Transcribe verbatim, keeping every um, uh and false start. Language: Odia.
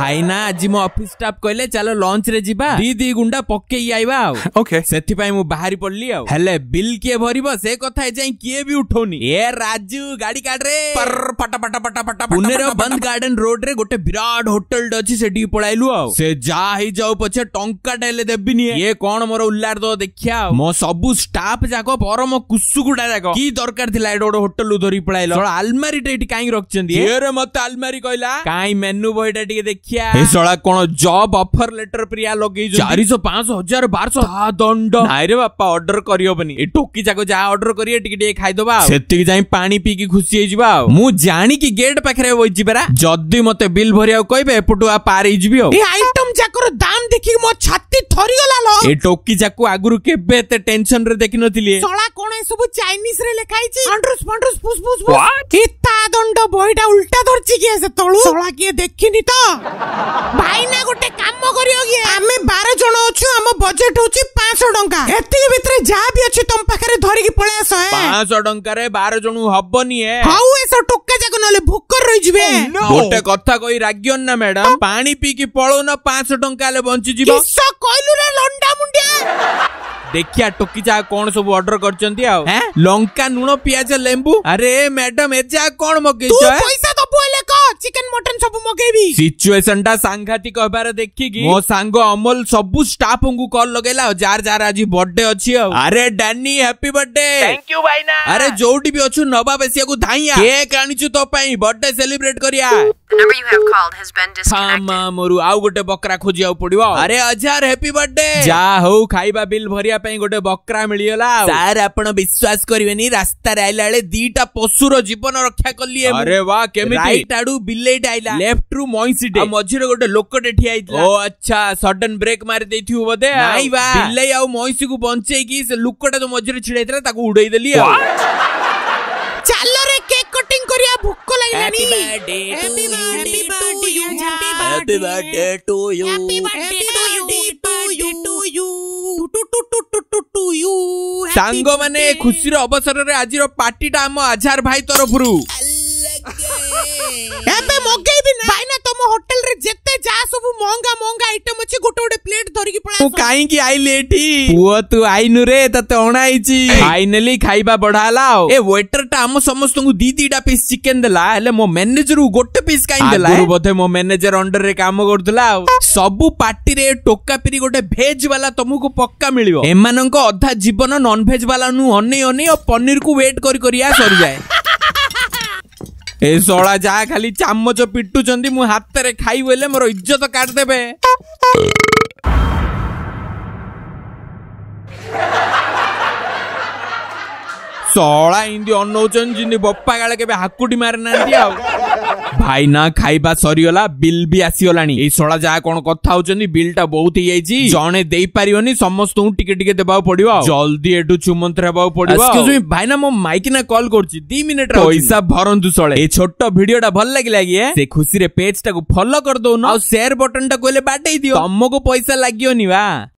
ଭାଇନା ଆଜି ମୋ ଅଫିସ ଷ୍ଟାଫ କହିଲେ ଚାଲ ଲଞ୍ଚ ରେ ଯିବା ଦି ଦି ଗୁଣ୍ଡା ପକେଇ ଆଇବା ଆଉ Okay. ସେଥିପାଇଁ ମୁଁ ବାହାରି ପଡିଲି ଆଉ ହେଲେ ବିଲ୍ କିଏ ଭରିବ ସେ କଥା ଏଯାଏଁ କିଏ ବି ଉଠଉନି ଏ ରାଜୁ ଗାଡି କାଢରେ ପଟା ପଟା ପଟା ପଟା ପୁନେର ବନ୍ଦ ଗାର୍ଡେନ ରୋଡ ରେ ଗୋଟେ ବିରାଟ ହୋଟେଲ ଅଛି ସେଠିକି ପଳାଇଲୁ ଆଉ ସେ ଯାହା ହେଇଯାଉ ପଛେ ଟଙ୍କାଟା ହେଲେ ଦେବିନି ଇଏ କଣ ମୋର ଉଲ୍ଲାର ଦବ ଦେଖିଆ ଆଉ ମୋ ସବୁ ଷ୍ଟାଫ ଯାକ ପରମ କୁସୁଗୁଡା ଯାକ କି ଦରକାର ଥିଲା ଏଠି ଗୋଟେ ହୋଟେଲ ଧରିକି ପଳାଇଲ ଶଳା ଆଲମାରିଟା ଏଠି କାହିଁକି ରଖିଛନ୍ତି ଏରେ ମତେ ଆଲମାରି କହିଲା କାଇଁ ମେନୁ ବହିଟା ଟିକେ ଦେଖିଆ ଏ ଶଳା କଣ ଜବ ଅଫର ଲେଟର ପ୍ରିୟା ଲଗେଇଛନ୍ତି ଚାରିଶହ ପାଞ୍ଚଶହ ହଜାର ବାରଶହ ତା ଦଣ୍ଡ ନାଇରେ ବାପା ଅର୍ଡର କରିହବନି ଏ ଟୋକି ଯାକ ଯାହା ଅର୍ଡର କରିବେ ଟିକେ ଟିକେ ଖାଇଦବା ଆଉ ସେତିକି ଯାଇ ପାଣି ପିଇକି ଖୁସି ହେଇଯିବା ଆଉ ମୁଁ ଜାଣିକି ଗେଟ୍ ପାଖରେ ବଇଛି ପରା ଯଦି ମତେ ବିଲ୍ ଭରିବାକୁ କହିବେ ଏପଟୁ ଆଉ ପାର ହେଇଯିବି ଆଉ ଏ ଆଇଟମ ଯାକର ଦାମ ଦେଖିକି ମୋ ଛାତି ଥରିଗଲା ଲୋ ଏ ଟୋକି ଯାକୁ ଆଗରୁ କେବେ ଏତେ ଟେନସନ ରେ ଦେଖିନଥିଲି ଶଳା କଣ ଏ ସବୁ ଚାଇନିଜ ରେ ଲେଖା ହେଇଛି ଆଣ୍ଡ୍ରୁସ୍ ଫାଣ୍ଡ୍ରୁସ୍ ଫୁସ୍ ଫୁସ୍ ଫୁସ୍ ଏ ତା ଦଣ୍ଡ ବହିଟା ଉଲ୍ଟା ଧରିଛି କିଏ ସେତେବେଳୁ ଶଳା କିଏ ଦେଖିନି ତ ଭାଇନା ଗୋଟେ କାମ କରିବ କି ଆମେ ବାର ଜଣ ଅଛୁ ଆମ ବଜେଟ ହଉଛି ପାଞ୍ଚଶହ ଟଙ୍କା ଏତିକି ଭିତରେ ଯାହା ବି ଅଛି ତମ ପାଖରେ ଧରିକି ପଳେଇ ଆସ ଏ। ପାଞ୍ଚଶହ ଟଙ୍କାରେ ବାର ଜଣ ହବନି ଏ ହଉ ଏସବୁ ଟୋକା ଯାକ ନହେଲେ ଭୋକରେ ରହିଯିବେ ଗୋଟେ କଥା କହି ରାଗିଅନି ନା ମ୍ୟାଡାମ ପାଣି ପିଇକି ପଳଉନ ପାଞ୍ଚଶହ ଟଙ୍କା ହେଲେ ବଞ୍ଚିଯିବ କିସ କହିଲୁ ରେ ଲଣ୍ଡା ମୁଣ୍ଡିଆ ଦେଖିଆ ଟୋକି ଯାହା କଣ ସବୁ ଅର୍ଡର କରିଛନ୍ତି ଆଉ ଏଁ? ଲଙ୍କା ଲୁଣ ପିଆଜ ଲେମ୍ବୁ ଆରେ ମ୍ୟାଡାମ ଏ ଯାହା କଣ ତୁ ମଗେଇଛ ଏ? ପଇସା ଦବୁ ହେଲେ କହ ଚିକେନ ମଟନ ସବୁ ମଗେଇବି ସିଚୁଏସନ ଟା ସାଂଘାତିକ ହେବାର ଦେଖିକି ମୋ ସାଙ୍ଗ ଅମଲ ସବୁ ଷ୍ଟାଫଙ୍କୁ କଲ୍ ଲଗେଇଲା ଆଉ ଯାର ଯାର ଆଜି ବର୍ଥଡେ ଅଛି ଆଉ ଆରେ Dani happy birthday thank you ଭାଇନା ଆରେ ଯୋଉଠି ବି ଅଛୁ ନବାବ ଏସିଆକୁ ଧାଇଁଆ କେକ୍ ଆଣିଛୁ ତୋ ପାଇଁ ବର୍ଥଡେ ସେଲିବ୍ରେଟ କରିବା The number you have called has been disconnected. ମା ମୋରୁ ଆଉ ଗୋଟେ ବକରା ଖୋଜିବାକୁ ପଡିବ ଆରେ ଅଜାର ହ୍ୟାପି ବର୍ଥଡେ ଯା ହଉ ଖାଇବା ବିଲ୍ ଭରିବା ପାଇଁ ଗୋଟେ ବକରା ମିଳିଗଲା ସାର୍ ଆପଣ ବିଶ୍ୱାସ କରିବେନି ରାସ୍ତାରେ ଆଇଲା ବେଳେ ଦିଟା ପଶୁର ଜୀବନ ରକ୍ଷା କଲି ଆରେ ବା କେମିତି ରାଇଟ୍ ଆଡୁ ବିଲେଇଟା ଆଇଲା ଲେଫ୍ଟ ରୁ ମଇଁଷିଟେ ଆଉ ମଝିରେ ଗୋଟେ ଲୋକଟେ ଠିଆ ହେଇଥିଲା ଓ ଆଚ୍ଛା ସଡନ ବ୍ରେକ୍ ମାରି ଦେଇଥିବୁ ବୋଧେ ନାଇଁ ବା ବିଲେଇ ଆଉ ମଇଁଷିକୁ ବଞ୍ଚେଇକି ସେ ଲୋକଟା ଯୋଉ ମଝିରେ ଛିଡା ହେଇଥିଲା ତାକୁ ଉଡେଇ ଦେଲି ଆଉ ଚାଲରେ କେକ୍ କଟିଂ କରିବା ଭୋକ ଲାଗିଲାଣି Happy Happy birthday birthday to you. to you. Happy birthday to you. Happy birthday to you. To you. To to to to to to you. Happy ସାଙ୍ଗମାନେ birthday. ଖୁସିର ଅବସରରେ ଆଜିର ପାର୍ଟିଟା ଆମ ଆଝାର ଭାଇ ତରଫରୁ ଏବେ ମଗେଇବି ନା ଭାଇନା ତମ ହୋଟେଲରେ ଯେତେ ଯାହା ସବୁ ମହଙ୍ଗା ମହଙ୍ଗା ଆଇଟମ ଅଛି ଗୋଟେ ଗୋଟେ ପ୍ଲେଟ ଧରିକି ପଳେଇ ମୁଁ ଆସ କାହିଁକି ଆଇଲି ଏଠି ପୁଅ ତୁ ଆଇନୁ ରେ ତତେ ଅଣା ହେଇଛି ଫାଇନାଲି ଖାଇବା ବଢା ହେଲା ଆଉ ଏ ୱେଟର ଟା ଆମ ସମସ୍ତଙ୍କୁ ଦି ଦିଟା ପିସ୍ ଚିକେନ ଦେଲା ହେଲେ ମୋ ମ୍ୟାନେଜର ଗୋଟେ ପିସ୍ କାହିଁ ଦେଲା ଆଗରୁ ବୋଧେ ମୋ ମ୍ୟାନେଜର ଅଣ୍ଡରରେ କାମ କରୁଥିଲା ଆଉ ସବୁ ପାର୍ଟିରେ ଟୋକା ପିରି ଗୋଟେ ଭେଜ ବାଲା ତମକୁ ପକ୍କା ମିଳିବ ଏମାନଙ୍କ ଅଧା ଜୀବନ ନନ ଭେଜ ବାଲା ନୁ ଅନେଇ ଅନେଇ ଆଉ ପନିରକୁ ୱେଟ୍ କରି କରିଆ ସରିଯାଏ ଏ ଶଳା ଯାହା ଖାଲି ଚାମଚ ପିଟୁଛନ୍ତି ମୁଁ ହାତରେ ଖାଇବି ହେଲେ ମୋର ଇଜ୍ଜତ କାଟିଦେବେ ଶଳା ଇନ୍ତି ଅନଉଛନ୍ତି ଯେମିତି ବପ୍ପା କାଳେ କେବେ ହାକୁଟି ମାରିନାହାନ୍ତି ଆଉ ଭାଇନା ଖାଇବା ସରିଗଲା ବିଲ୍ ବି ଆସିଗଲାଣି ଏଇ ଶଳା ଯାହା କଣ କଥା ହଉଛନ୍ତି ବିଲ୍ ଟା ବହୁତ ହେଇଯାଇଛି ଜଣେ ଦେଇପାରିବନି ସମସ୍ତଙ୍କୁ ଟିକେ ଟିକେ ଦେବାକୁ ପଡିବ ଆଉ। ଜଲ୍ଦି ଏଠୁ ଚୁମନ୍ତ୍ର ହେବାକୁ ପଡିବ Excuse me, ଭାଇନା ମୋ ମାଇକିନା କଲ୍ କରୁଛି ଦି ମିନିଟ ପଇସା ଭରନ୍ତୁ ଶଳେ ଏଇ ଛୋଟ ଭିଡିଓ ଟା ଭଲ ଲାଗିଲା କି ଏ? ସେ ଖୁସିରେ ପେଜ ଟାକୁ ଫଲୋ କରିଦଉନ ଆଉ ସେୟାର ବଟନ ଟାକୁ ହେଲେ ବାଡେଇ ଦିଅ ତମକୁ ପଇସା ଲାଗିବନି ବା